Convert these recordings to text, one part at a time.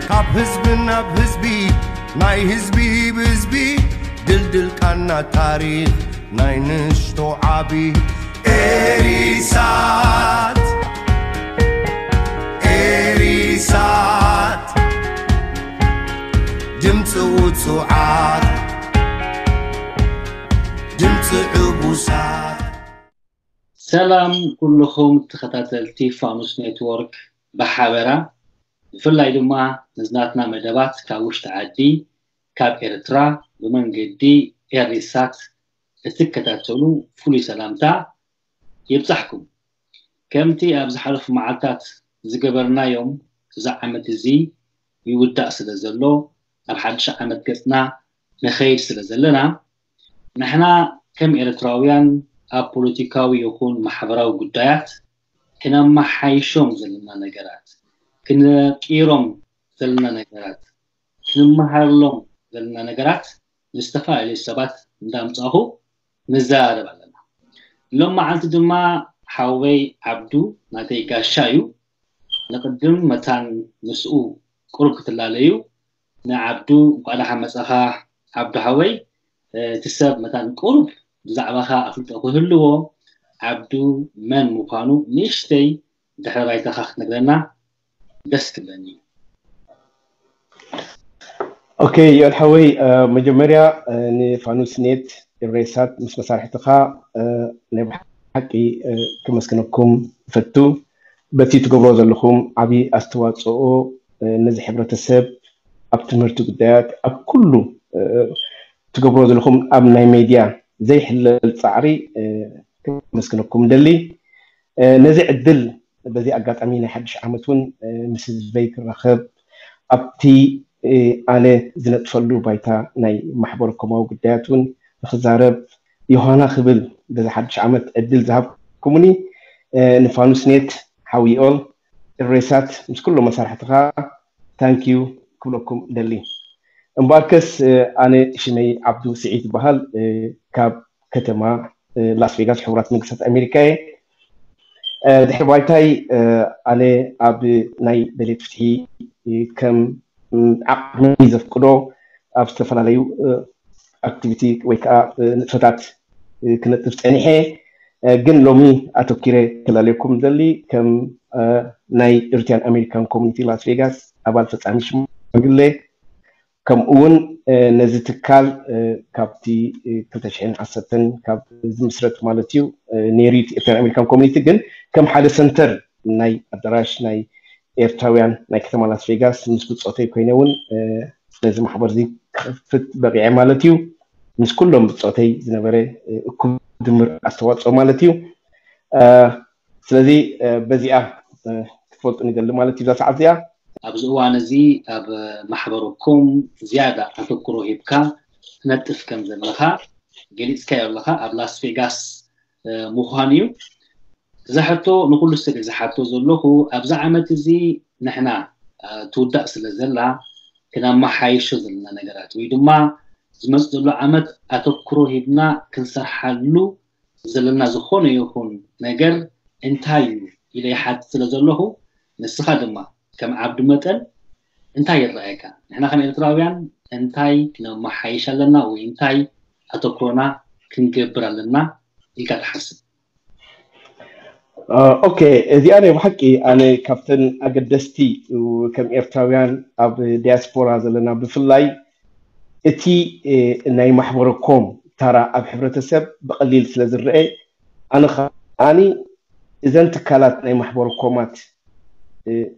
ካብ ህዝቢ ናብ ህዝቢ ናይ ህዝቢ ብህዝቢ ድልድል ቃና ታሪኽ ናይ ንሽቶ ዓቢ ኤሪሳት ኤሪሳት ድምፂ ውፁዓት ድምፂ ዕቡሳት ሰላም ኩልኹም ተኸታተልቲ ፋኑስ ኔትወርክ ብሓበራ፣ ብፍላይ ድማ ነዝናትና መደባት ካብ ውሽጢ ዓዲ ካብ ኤርትራ ብመንገዲ ኤሪሳት እትከታተሉ ፍሉይ ሰላምታ ይብጻሕኩም። ከምቲ ኣብ ዝሓለፉ መዓልታት ዝገበርናዮም፣ እዚ ዓመት እዚ ይውዳእ ስለ ዘሎ፣ ኣብ ሓድሽ ዓመት ገጽና ንኸይድ ስለ ዘለና፣ ንሕና ከም ኤርትራውያን ኣብ ፖለቲካዊ ይኹን ማሕበራዊ ጉዳያት ክነመሓይሾም ዘለና ነገራት፣ ክንቅይሮም ዘለና ነገራት፣ ክንመሃረሎም ዘለና ነገራት ንዝተፈላለዩ ሰባት እንዳምጻኹ ንዘራረብ ኣለና። ሎም መዓልቲ ድማ ሓወይ ዓብዱ ናተይ ጋሻ እዩ። ንቕድም መታን ምስኡ ቁሩብ ክትላለዩ ንዓብዱ እንኳዕ ደሓን መጻኻ። ዓብዱ ሓወይ፣ እቲ ሰብ መታን ቁሩብ ብዛዕባኻ ኣፍልጦ ክህልዎ፣ ዓብዱ መን ምዃኑ ንእሽተይ ድሕረ ባይታኻ ክትነግረና ደስ ክብለኒ እዩ። ኦኬ፣ ዮል ሓወይ፣ መጀመርያ ንፋኑስ ኔት ኢሬሳት ምስ መሳርሕትኻ ናይ ብሓቂ ክመስግነኩም እፈቱ። በቲ ትገብሮ ዘለኹም ዓብዪ ኣስተዋፅኦ ነዚ ሕብረተሰብ ኣብ ትምህርቲ ጉዳያት ኣብ ኩሉ ትገብሮ ዘለኹም ኣብ ናይ ሜድያ ዘይሕለል ፃዕሪ ክመስግነኩም ደሊ። ነዚ ዕድል በዚ ኣጋጣሚ ናይ ሓድሽ ዓመት እውን ምስ ህዝበይ ክራኸብ ኣብቲ ኣነ ዝነጥፈሉ ባይታ ናይ ማሕበረ ኮማዊ ጉዳያት እውን ንክዛረብ ዮሃና ክብል በዚ ሓድሽ ዓመት ዕድል ዝሃብኩምኒ ንፋኑስ ኔት ሓውይኦል እሬሳት ምስ ኩሎም መሳርሕትኻ ታንኪዩ ክብለኩም ደሊ። እምበኣርከስ ኣነ ሽመይ ዓብዱ ስዒድ ይበሃል፣ ካብ ከተማ ላስ ቬጋስ ሕቡራት መንግስታት ኣሜሪካ እየ። ድሕሪ ባይታይ ኣነ ኣብ ናይ ደሌት ፍትሒ ከም ዓቕሚ ዘፍቅዶ ኣብ ዝተፈላለዩ ኣክቲቪቲ ወይ ከዓ ንጥፈታት ክነጥፍ ፀኒሐ። ግን ሎሚ ኣተኪረ ክላለየኩም ደሊ ከም ናይ ኢርትያን ኣሜሪካን ኮሚኒቲ ላስ ቬጋስ ኣባል ፈፃሚ ሽማግሌ ከምኡ እውን ነዚ ትካል ካብቲ ክልተ ሽሕን ዓሰርተን ካብ ዝምስረት ማለት እዩ ነይሩ ኢርትያን ኣሜሪካን ኮሚኒቲ ግን ከም ሓደ ሰንተር ናይ ኣዳራሽ ናይ ኤርትራውያን ናይ ከተማ ላስ ቬጋስ ምስ ብፆተይ ኮይነ እውን ነዚ ማሕበር እዚ ክኸፍት በቂዐ ማለት እዩ። ምስ ኩሎም ብፆተይ ዝነበረ እኩብ ድምር ኣስተዋፅኦ ማለት እዩ። ስለዚ በዚኣ ክትፈልጡ ንደሊ ማለት እዩ እዛ ሰዓት እዚኣ። ኣብዚ እዋን እዚ ኣብ ማሕበረኮም ዝያዳ ኣተኩሮ ሂብካ ትነጥፍ ከም ዘለኻ ገሊፅካዮ ኣለኻ ኣብ ላስ ቬጋስ ምዃን እዩ። እዛ ሕቶ ንኩሉ ሰብ እየ ዝሓቶ ዘለኹ። ኣብዚ ዓመት እዚ ንሕና ትውዳእ ስለ ዘላ ክነመሓይሾ ዘለና ነገራት ወይ ድማ ዝመፅ ዘሎ ዓመት ኣተኩሮ ሂብና ክንሰርሓሉ ዘለና ዝኾነ ይኹን ነገር እንታይ እዩ ኢለ ይሓትት ስለ ዘለኹ ንስኻ ድማ ከም ዓብዱ መጠን እንታይ ይረኣየካ? ንሕና ከም ኤርትራውያን እንታይ ክነመሓይሽ ኣለና ወይ እንታይ ኣተኩሮና ክንገብር ኣለና ኢልካ ትሓስብ? ኦኬ፣ እዚኣ ናይ ብሓቂ ኣነ ካብተን ኣገደስቲ ከም ኤርትራውያን ኣብ ዲያስፖራ ዘለና ብፍላይ እቲ ናይ ማሕበረኮም ታራ ኣብ ሕብረተሰብ ብቐሊል ስለ ዝረአ ኣነ ከዓኒ እዘን ትካላት ናይ ማሕበረኮማት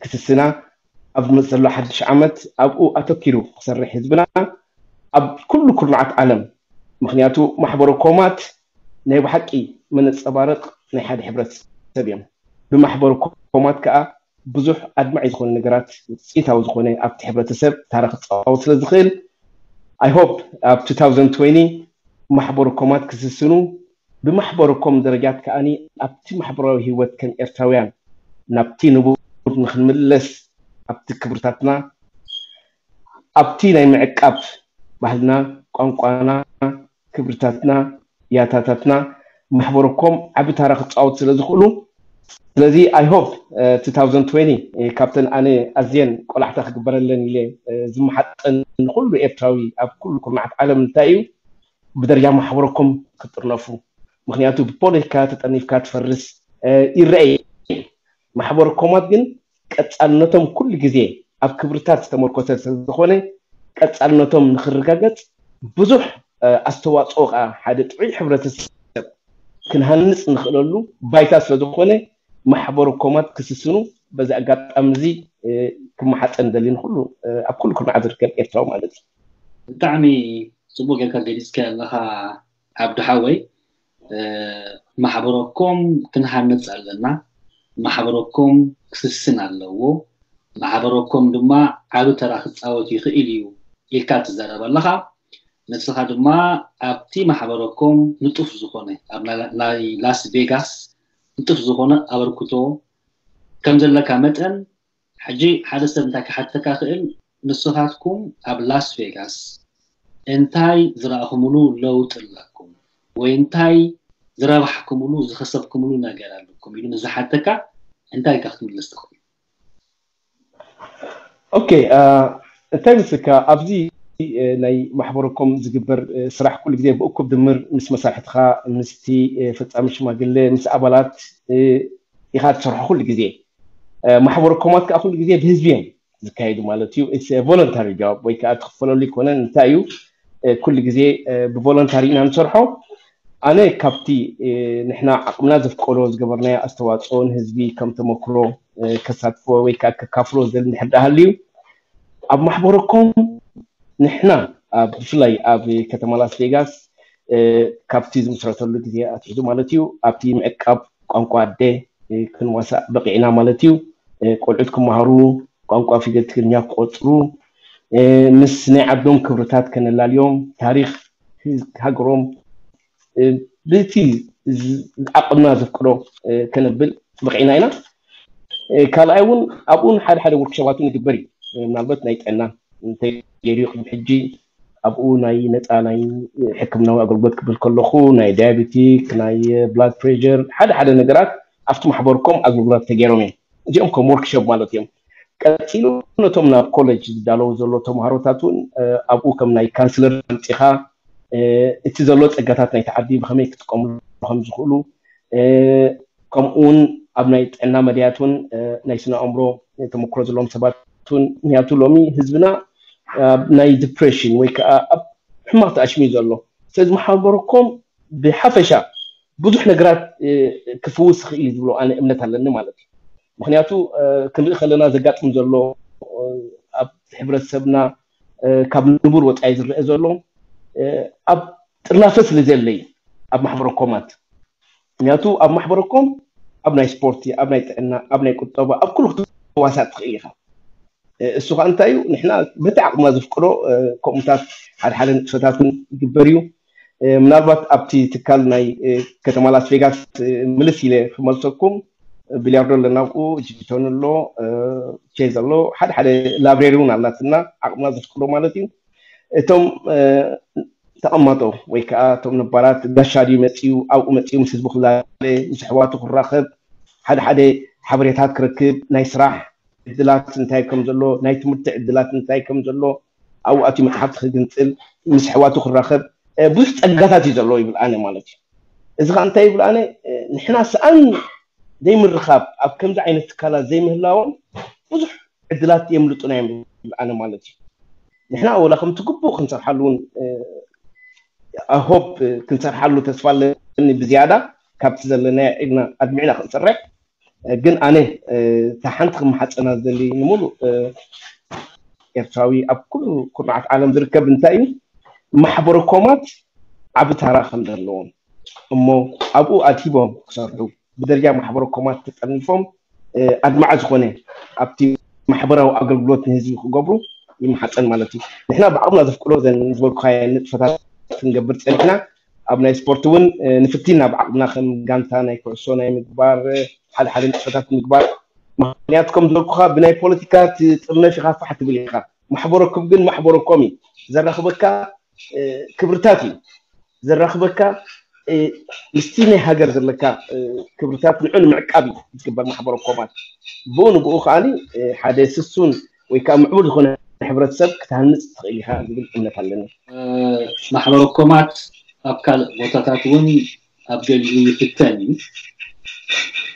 ክስስና ኣብ ዝመፅእ ዘሎ ሓድሽ ዓመት ኣብኡ ኣተኪሩ ክሰርሕ ህዝብና ኣብ ኩሉ ኩርናዓት ዓለም ምክንያቱ ማሕበረኮማት ናይ ብሓቂ መነፀባረቅ ናይ ሓደ ሕብረተሰብ እዮም። ብማሕበረኮማት ከዓ ብዙሕ ኣድማዒ ዝኾነ ነገራት ውፅኢታዊ ዝኾነ ኣብቲ ሕብረተሰብ ታራ ክፃወት ስለ ዝኽእል I hope ኣብ two thousand twenty ማሕበረኮማት ክስስኑ ብማሕበረኮም ደረጃት ከዓኒ ኣብቲ ማሕበራዊ ህይወት ከም ኤርትራውያን ናብቲ ንቡር ንክንምለስ ኣብቲ ክብርታትና ኣብቲ ናይ ምዕቃብ ባህልና ቋንቋና ክብርታትና ያታታትና ማሕበረኮም ዓቢ ታራ ክፃወት ስለ ዝኽእሉ ስለዚ I hope two thousand twenty ካብተን ኣነ ኣዝየን ቆላሕታ ክግበረለን ኢለ ዝመሓፀን ንኩሉ ኤርትራዊ ኣብ ኩሉ ኩርናዓት ዓለም እንታይ እዩ ብደረጃ ማሕበረኮም ክጥርነፉ። ምክንያቱ ብፖለቲካ ተጠርኒፍካ ትፈርስ ይረአ። ማሕበረኮማት ግን ቀፃልነቶም ኩሉ ግዜ ኣብ ክብርታት ዝተመርኮሰ ስለዝኾነ ቀፃልነቶም ንክረጋገፅ ብዙሕ ኣስተዋፅኦ ከዓ ሓደ ጥዑይ ሕብረተሰብ ክንሃንፅ ንክእለሉ ባይታ ስለዝኾነ ማሕበረኮማት ክስስኑ በዚ ኣጋጣሚ እዚ ክመሓፀን ደሊ ንኩሉ ኣብ ኩሉ ኩርናዓት ዝርከብ ኤርትራዊ ማለት እዩ። ብጣዕሚ ፅቡቅ ጌርካ ገሊፅካ ኣለካ ዓብዱ ሓወይ። ማሕበረኮም ክንሃንፅ ኣለና። ማሕበረኮም ክስስን ኣለዎ። ማሕበረኮም ድማ ዓቢ ተራ ክፃወት ይኽእል እዩ ኢልካ ትዛረብ ኣለኻ። ንስኻ ድማ ኣብቲ ማሕበረኮም ንጡፍ ዝኾነ ኣብ ናይ ላስ ቬጋስ ንጡፍ ዝኾነ ኣበርክቶ ከም ዘለካ መጠን ሕጂ ሓደ ሰብ እንታይ ክሓተካ ክእል ንስኻትኩም ኣብ ላስ ቬጋስ እንታይ ዝረኣኹምሉ ለውጥ ኣለኩም ወይ እንታይ ዝረባሕኩምሉ ዝኸሰብኩምሉ ነገር ኣለኩም ኢሉ ንዝሓተካ እንታይ ኢልካ ክትምልስ ትኽእል? ኦኬ እንታይ ምስልካ ኣብዚ ናይ ማሕበረኮም ዝግበር ስራሕ ኩሉ ግዜ ብእኩብ ድምር ምስ መሳርሕትኻ ምስቲ ፈፃሚ ሽማግለ ምስ ኣባላት ኢኻ ትሰርሖ ኩሉ ግዜ ማሕበረኮማት ከዓ ኩሉ ግዜ ብህዝቢ እዮም ዝካየዱ ማለት እዩ ቮለንታሪ ጃብ ወይ ከዓ ትኽፈለሉ ይኮነን እንታይ እዩ ኩሉ ግዜ ብቮለንታሪ ኢና ንሰርሖ ኣነ ካብቲ ንሕና ዓቕምና ዘፍቀዶ ዝገበርናዮ ኣስተዋፅኦ ንህዝቢ ከም ተመክሮ ከሳትፎ ወይ ከዓ ከካፍሎ ዝደሊ እንድሕር ደኣ ሃልዩ ኣብ ማሕበረኮም ንሕና ኣብ ብፍላይ ኣብ ከተማ ላስ ቬጋስ ካብቲ ዝምስረተሉ ግዜ ኣትሒዙ ማለት እዩ ኣብቲ ምዕቃብ ቋንቋ ኣደ ክንዋሳእ በቂዕና ማለት እዩ ቆልዑት ክመሃሩ ቋንቋ ፊደል ትግርኛ ክቆፅሩ ምስ ናይ ዓዶም ክብርታት ከነላልዮም ታሪክ ሃገሮም ብቲ ዓቅምና ዘፍቅዶ ከነብል በቂዕና ኢና ካልኣይ እውን ኣብኡን ሓደ ሓደ ወርክሾባት እውን ይግበር እዩ ምናልባት ናይ ጥዕና እንተገይሩ ቅድሚ ሕጂ ኣብኡ ናይ ነፃ ናይ ሕክምናዊ ኣገልግሎት ክብል ከለኹ ናይ ዳያቤቲክ ናይ ብላድ ፕሬር ሓደ ሓደ ነገራት ኣብቲ ማሕበርኮም ኣገልግሎት ተገይሮም እዮም እዚኦም ከም ወርክሾፕ ማለት እዮም ቀፂሉ ነቶም ናብ ኮሌጅ ዝዳለዉ ዘሎ ተምሃሮታት እውን ኣብኡ ከም ናይ ካንስለር ኣምፂኻ እቲ ዘሎ ፀጋታት ናይቲ ዓዲ ብከመይ ክጥቀምሉ ከም ዝኽእሉ ከምኡውን ኣብ ናይ ጥዕና መድያት እውን ናይ ስነ ኣእምሮ ተመክሮ ዘለዎም ሰባት እውን ምክንያቱ ሎሚ ህዝብና ኣብ ናይ ዲፕሬሽን ወይ ከዓ ኣብ ሕማቅ ተኣሽሚ ዘሎ ስለዚ ማሕበረኮም ብሓፈሻ ብዙሕ ነገራት ክፍውስ ይኽእል ዝብሎ ኣነ እምነት ኣለኒ ማለት እዩ ምክንያቱ ክንርኢ ከለና ዘጋጥም ዘሎ ኣብ ሕብረተሰብና ካብ ንቡር ወፃኢ ዝረአ ዘሎ ኣብ ጥርናፈ ስለ ዘለ እዩ ኣብ ማሕበረኮማት ምክንያቱ ኣብ ማሕበረኮም ኣብ ናይ ስፖርቲ ኣብ ናይ ጥዕና ኣብ ናይ ቁጠባ ኣብ ኩሉ ክትዋሳእ ትኽእል ኢኻ እሱ ከዓ እንታይ እዩ ንሕና በቲ ዓቅምና ዘፍቅዶ ከምኡታት ሓደ ሓደ ንጥፈታት ይግበር እዩ ምናልባት ኣብቲ ትካል ናይ ከተማ ላስ ቬጋስ ምልስ ኢለ ክመልሰኩም ቢልያርዶ ኣለና ብኡ ጂቶን ኣሎ ቼዝ ኣሎ ሓደ ሓደ ላብሬሪ እውን ኣላትና ዓቅምና ዘፍቅዶ ማለት እዩ እቶም ተቐማጦ ወይ ከዓ እቶም ነባራት ጋሻ ድዩ መፅኡ ኣብኡ መፅኡ ምስ ህዝቡ ክዛለ ምስ ኣሕዋቱ ክራኸብ ሓደ ሓደ ሓበሬታት ክረክብ ናይ ስራሕ ዕድላት እንታይ ከም ዘሎ ናይ ትምህርቲ ዕድላት እንታይ ከም ዘሎ ኣብኡ ኣትዩ መፅሓፍቲ ክግንፅል ምስ ኣሕዋቱ ክራኸብ ብዙሕ ፀጋታት እዩ ዘለዎ ይብል ኣነ ማለት እዩ እዚ ከዓ እንታይ ይብል ኣነ ንሕና ሰኣን ዘይምርኻብ ኣብ ከምዚ ዓይነት ትካላት ዘይምህላዎም ብዙሕ ዕድላት የምልጡና እዮም ይብል ኣነ ማለት እዩ ንሕና ወላ ከምቲ ግቡእ ክንሰርሓሉ እውን ሆፕ ክንሰርሓሉ ተስፋ ኣለኒ ብዝያዳ ካብቲ ዘለና ኢልና ኣድሚዕና ክንሰርሕ ግን ኣነ እታ ሓንቲ ክመሓፀና ዝደሊ ንሙሉእ ኤርትራዊ ኣብ ኩሉ ኩርናዓት ዓለም ዝርከብ እንታይ እዩ ማሕበረኮማት ዓቢ ታራ ከም ዘለዎም እሞ ኣብኡ ኣድሂቦም ክሰርሑ ብደረጃ ማሕበረኮማት ተጠርኒፎም ኣድማዒ ዝኾነ ኣብቲ ማሕበራዊ ኣገልግሎት ንህዝቢ ክገብሩ ይመሓፀን ማለት እዩ ንሕና ብዓቕምና ዘፍቅዶ ዘን ዝበልኩኻየ ንጥፈታት ክንገብር ፀኒሕና ኣብ ናይ ስፖርት እውን ንፍቲና ብዓቕምና ከም ጋንታ ናይ ኩዕሶ ናይ ምግባር ሓደ ሓደ ንጥፈታት ምግባር ምክንያቱ ከም ዝበልኩኻ ብናይ ፖለቲካ ትጥርነፍ ኢኻ ፋሕ ትብል ኢኻ ማሕበረኩም ግን ማሕበረኮም እዩ ዘራኽበካ ክብርታት እዩ ዘራኽበካ ምስቲ ናይ ሃገር ዘለካ ክብርታት ንዑ ንምዕቃብ እዩ ዝግበር ማሕበረ ኮማት። ብኡ ንብኡ ከዓኒ ሓደ ስሱን ወይ ከዓ ምዕቡል ዝኾነ ሕብረተሰብ ክትሃንፅ ትኽእል ኢኻ ዝብል እምነት ኣለኒ። ማሕበረ ኮማት ኣብ ካልእ ቦታታት እውን ኣብ ገሊኡ ይፍተን እዩ።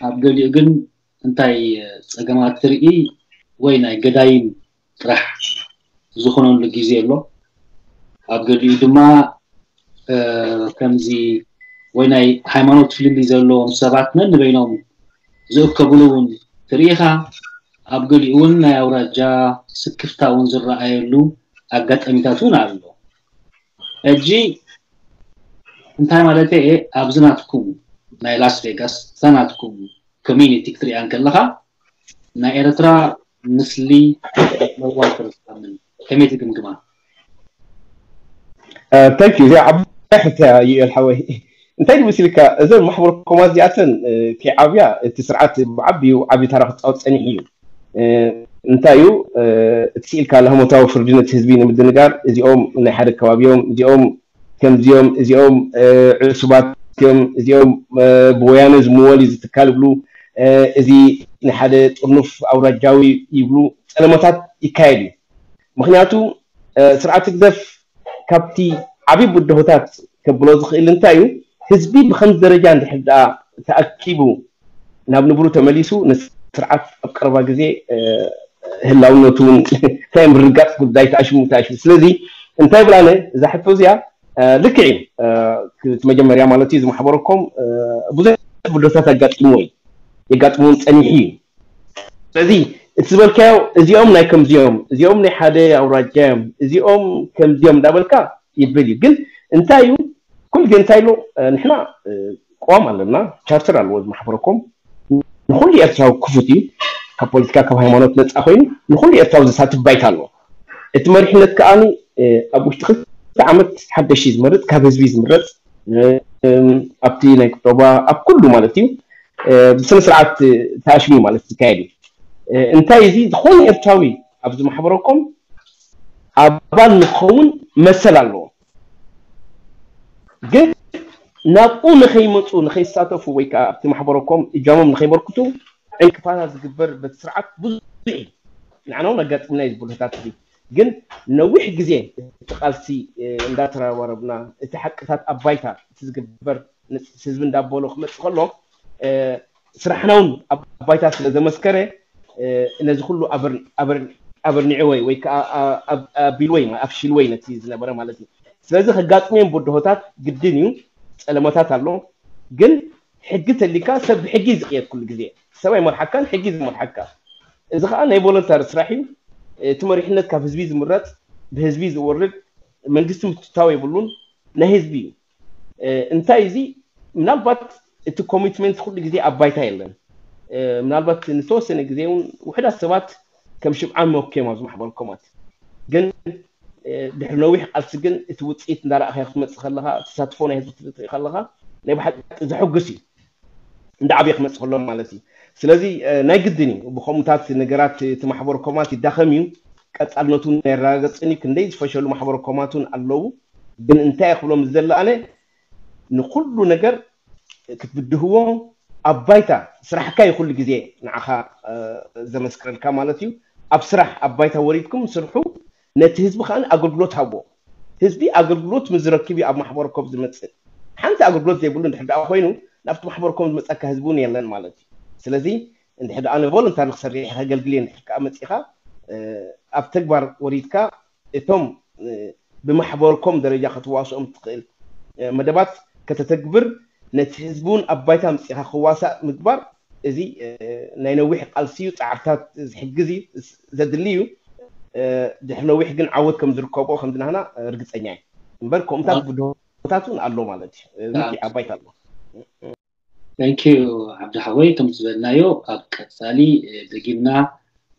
ኣብ ገሊኡ ግን እንታይ ጸገማት ትርኢ ወይ ናይ ገዳይም ጥራሕ ዝኾነሉ ግዜ ኣሎ። ኣብ ገሊኡ ድማ ከምዚ ወይ ናይ ሃይማኖት ፍልልይ ዘለዎም ሰባት ነንበይኖም ዝእከብሉ እውን ትርኢ ኢኻ። ኣብ ገሊኡ እውን ናይ ኣውራጃ ስክፍታ እውን ዝረኣየሉ ኣጋጣሚታት እውን ኣሎ። ሕጂ እንታይ ማለት እየ? ኣብዚ ናትኩም ናይ ላስ ቬጋስ እዛ ናትኩም ኮሚኒቲ ክትሪኣ እንከለኻ ናይ ኤርትራ ምስሊ ኣለዋ ትርሳምን ከመይ ትግምግማ? ታንክ ዩ። እዚኣ ዓባይ ሕቶ እያ ዩኤል ሓወይ። እንታይ ድመሲልካ፣ እዘን ማሕበረ ኮማት እዚኣተን ከይዓብያ እቲ ስርዓት ብዓብዩ ዓብዩ ታራ ክፃወት ፀኒሑ እዩ። እንታይ እዩ እቲ ስኢልካ ላህሞታዊ ፍርዲ ነቲ ህዝቢ ንምድንጋር እዚኦም ናይ ሓደ ከባቢ እዮም፣ እዚኦም ከምዚኦም፣ እዚኦም ዕሱባት እዮም፣ እዚኦም ብወያነ ዝምወል እዩ ዝትካል ይብሉ፣ እዚ ንሓደ ጥርኑፍ ኣውራጃዊ ይብሉ፣ ፀለመታት ይካየድ እዩ። ምክንያቱ ስርዓት ህግደፍ ካብቲ ዓብዪ ብድሆታት ከብሎ ዝኽእል እንታይ እዩ? ህዝቢ ብከምዚ ደረጃ እንድሕር ደኣ ተኣኪቡ ናብ ንብሩ ተመሊሱ ንስርዓት ኣብ ቀረባ ግዜ ህላውነቱ እውን እንታይ ምርጋፅ ጉዳይ ተኣሽሙ ተኣሽሙ። ስለዚ እንታይ ብላነ እዛ ሕቶ እዚኣ ልክዕ እዩ። እቲ መጀመርያ ማለት እዩ ዝማሕበረኮም ብዙሕ ብድሆታት ኣጋጢምዎ እዩ፣ የጋጥምዎም ፀኒሑ እዩ። ስለዚ እቲ ዝበልካዮ እዚኦም ናይ ከምዚኦም፣ እዚኦም ናይ ሓደ ኣውራጃ እዮም፣ እዚኦም ከምዚኦም እንዳበልካ ይብል እዩ። ግን እንታይ እዩ ኩሉ ግዜ እንታይ ኢሉ ንሕና ቅዋም ኣለና፣ ቻርተር ኣለዎ እዚ ማሕበረኮም ንኩሉ ኤርትራዊ ክፉት እዩ። ካብ ፖለቲካ ካብ ሃይማኖት ነፃ ኮይኑ ንኩሉ ኤርትራዊ ዘሳትፍ ባይታ ኣለዎ። እቲ መሪሕነት ከዓኒ ኣብ ውሽጢ ክልተ ዓመት ሓደሽ እዩ ዝመርፅ፣ ካብ ህዝቢ ዝምረፅ ኣብቲ ናይ ቁጠባ ኣብ ኩሉ ማለት እዩ ብስነ ስርዓት ተኣሽሙ ማለት ዝካየድ እዩ። እንታይ እዚ ዝኾነ ኤርትራዊ ኣብዚ ማሕበረኮም ኣባል ንክኸውን መሰል ኣለዎ። ግን ናብኡ ንኸይመፁ ንኸይሳተፉ ወይ ከዓ ኣብቲ ማሕበረኮም እጃሞም ንኸይበርክቱ ዕንቅፋታት ዝግበር በቲ ስርዓት ብዙሕ እዩ። ንዓና እውን ኣጋጢምና እዩ ዝብሉታት እዚ ግን ነዊሕ ግዜ እቲ ቃልሲ እንዳተረባረብና እቲ ሓቅታት ኣብ ባይታ እቲ ዝግበር ህዝቢ እንዳበሎ ክመፅእ ከሎ ስራሕና እውን ኣብ ባይታ ስለ ዘመስከረ ነዚ ኩሉ ኣበርኒዕወይ ወይ ከዓ ኣቢልወይ ኣፍሽልወይ ነቲ ዝነበረ ማለት እዩ። ስለዚ ከጋጥምዮም ብድሆታት ግድን እዩ፣ ፀለመታት ኣሎ። ግን ሕጊ ተሊካ ሰብ ብሕጊ ዝቅየድ ኩሉ ግዜ ሰብ ኣይመርሓካን ሕጊ ዝመርሓካ። እዚ ከዓ ናይ ቮለንታሪ ስራሕ እዩ። እቲ መሪሕነት ካብ ህዝቢ ዝምረፅ ብህዝቢ ዝወርድ መንግስቲ ምትታው የብሉን ናይ ህዝቢ እዩ። እንታይ እዚ ምናልባት እቲ ኮሚትመንት ኩሉ ግዜ ኣብ ባይታ የለን። ምናልባት ንተወሰነ ግዜ እውን ውሕዳት ሰባት ከም ሽምዓን መኩ እዮም ኣብዚ ማሕበረኮማት። ግን ድሕሪ ነዊሕ ቃልሲ ግን እቲ ውፅኢት እንዳረእኻዮ ክትመፅእ ከለካ ተሳትፎ ናይ ህዝቢ ክትርኢ ከለካ ናይ ብሓቂ ዘሐጉስ እዩ። እንዳ ዓብየ ክመፅእ ከሎ ማለት እዩ። ስለዚ ናይ ግድን እዩ ብከምኡታት ነገራት እቲ ማሕበረኮማት ይዳኸም እዩ፣ ቀፃልነቱ የረጋገፅን እዩ። ክንደይ ዝፈሸሉ ማሕበረኮማት እውን ኣለዉ። ግን እንታይ ክብሎም ዝደሊ ኣነ ንኩሉ ነገር ክትብድህዎ ኣብ ባይታ ስራሕካ እዩ ኩሉ ግዜ ንዓኻ ዘመስክረልካ ማለት እዩ። ኣብ ስራሕ ኣብ ባይታ ወሪድኩም ስርሑ፣ ነቲ ህዝቢ ከዓ ኣገልግሎት ሃቦ። ህዝቢ ኣገልግሎት ምዝረክብ እዩ ኣብ ማሕበረኮም ዝመፅእ። ሓንቲ ኣገልግሎት ዘይብሉ እንድሕር ደኣ ኮይኑ ናብቲ ማሕበረኮም ዝመፀካ ህዝቢ እውን የለን ማለት እዩ። ስለዚ እንድሕር ደኣ ንቮለንታሪ ክሰርሕ ከገልግል እየ እንድሕር ከዓ መፂኻ ኣብ ተግባር ወሪድካ እቶም ብማሕበርኮም ደረጃ ከተዋስኦም ትኽእል መደባት ከተተግብር ነቲ ህዝቢ እውን ኣብ ባይታ ኣምፂእኻ ክዋሳእ ምግባር እዚ ናይ ነዊሕ ቃልሲ እዩ፣ ፃዕርታት ዝሕግዝ እዩ፣ ዘድሊ እዩ። ድሕሪ ነዊሕ ግን ዓወት ከም ዝርከቦ ከምዚ ናህና ርግፀኛ እዩ። እምበር ከምኡታት ብድሆታት እውን ኣሎ ማለት እዩ። ምክንያት ኣብ ባይታ ኣሎ። Thank you ዓብዲ ሓወይ፣ ከም ዝበልናዮ ኣብ ቀፃሊ ደጊምና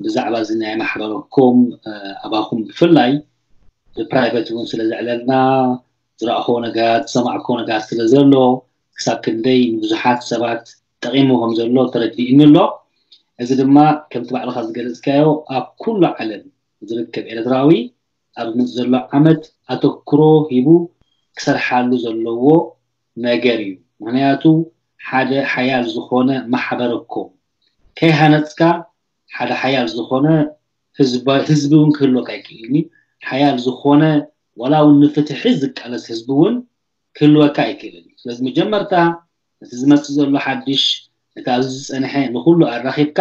ብዛዕባ እዚ ናይ ማሕበረኮም ኣባኹም ብፍላይ ብፕራይቨት እውን ስለ ዘዕለልና ዝረእኽዎ ነገራት ዝሰማዕክዎ ነገራት ስለ ዘሎ ክሳብ ክንደይ ንብዙሓት ሰባት ጠቒሙ ከም ዘሎ ተረዲእኒ ኣሎ። እዚ ድማ ከምቲ ባዕልኻ ዝገለፅካዮ ኣብ ኩሉ ዓለም ዝርከብ ኤርትራዊ ኣብ ዝመፅእ ዘሎ ዓመት ኣተክሮ ሂቡ ክሰርሓሉ ዘለዎ ነገር እዩ። ምክንያቱ ሓደ ሓያል ዝኾነ ማሕበረ ኮም ከይሃነፅካ ሓደ ሓያል ዝኾነ ህዝቢ እውን ክህልወካ ኣይክእልን እዩ። ሓያል ዝኾነ ዋላ እውን ንፍትሒ ዝቃለስ ህዝቢ እውን ክህልወካ ኣይክእልን እዩ። ስለዚ መጀመርታ እቲ ዝመፅእ ዘሎ ሓድሽ፣ እቲ ኣብዚ ዝፀንሐ ንኩሉ ኣራኺብካ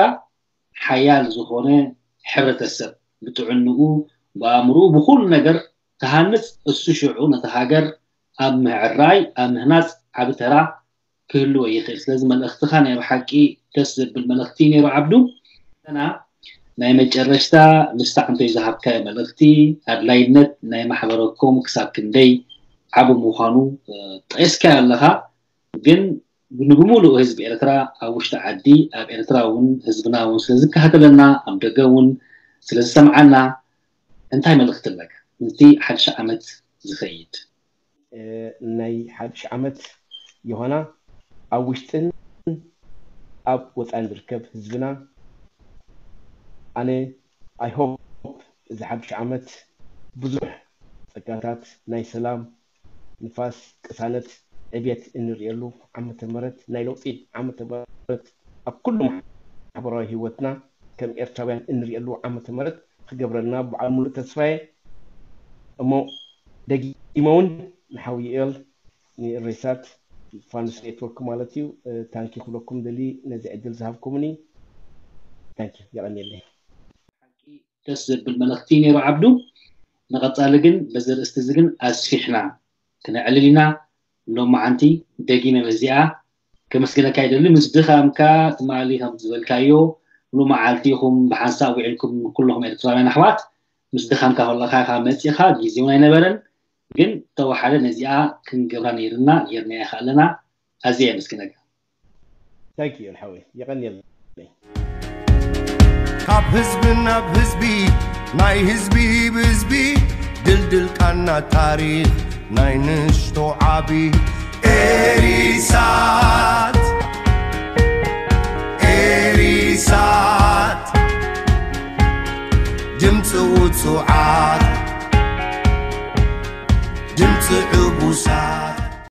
ሓያል ዝኾነ ሕብረተሰብ ብጥዕንኡ፣ ብኣእምርኡ፣ ብኩሉ ነገር ክሃንፅ፣ እሱ ሽዑ ነቲ ሃገር ኣብ ምዕራይ፣ ኣብ ምህናፅ ዓቢ ተራ ክህልዎ ይኽእል። ስለዚ መልእኽትኻ ናይ ብሓቂ ደስ ዘብል መልእኽቲ ነይሩ ዓብዱ። ና ናይ መጨረሽታ ንስታ እንተይ ዝሃብካዮ መልእኽቲ፣ ኣድላይነት ናይ ማሕበረኮም ክሳብ ክንደይ ዓቢ ምዃኑ ጠቂስካዮ ኣለኻ። ግን ንብምሉእ ህዝቢ ኤርትራ ኣብ ውሽጢ ዓዲ፣ ኣብ ኤርትራ እውን ህዝብና እውን ስለ ዝከታተለና፣ ኣብ ደገ እውን ስለ ዝሰምዓና እንታይ መልእኽቲ ኣለካ ነቲ ሓድሽ ዓመት ዝኸይድ? ናይ ሓድሽ ዓመት ዮሃና ኣብ ውሽጥን ኣብ ወፃን ዝርከብ ህዝብና ኣነ I hope እዚ ሓድሽ ዓመት ብዙሕ ፀጋታት ናይ ሰላም ንፋስ ቅሳነት ዕብየት እንርእየሉ ዓመተ ምህረት ናይ ለውጢ ዓመተ ምህረት ኣብ ኩሉ ማሕበራዊ ህይወትና ከም ኤርትራውያን እንርእየሉ ዓመተ ምህረት ክገብረልና በዓል ሙሉእ ተስፋየ እሞ ደጊመ እውን ንሓው ዩኤል ንሬሳት ፋንስ ኔትወርክ ማለት እዩ ታንኪ ክብለኩም ደሊ ነዚ ዕድል ዝሃብኩምኒ ታንኪ የቐንየለይ። ደስ ዘብል መልእኽቲ ነይሩ ዓብዱ። ንቐፃሊ ግን በዚ ርእስቲ እዚ ግን ኣስፊሕና ክነዕልል ኢና። ሎማዓንቲ ደጊመ በዚኣ ከመስግነካ ይደሊ። ምስ ድኻምካ ትማሊ ከም ዝበልካዮ ሙሉ መዓልቲ ኢኹም ብሓንሳብ ውዒልኩም ኩለኹም ኤርትራውያን ኣሕዋት ምስ ድኻምካ ከለኻ ኢኻ መፂኻ ግዜ እውን ኣይነበረን። ግን ተወሓደ ነዚኣ ክንገብራ ነይርና ጌርናያ ከ ኣለና። ኣዝየ የመስግነካ። ታንኪ ዩ ሓወይ የቐንየለይ። ካብ ህዝቢ ናብ ህዝቢ ናይ ህዝቢ ብህዝቢ ድልድል ቃና ታሪኽ ናይ ንሽቶ ዓቢ ኤሪሳት ኤሪሳት ድምፂ ውፁዓት ድምፂ ዕቡሳት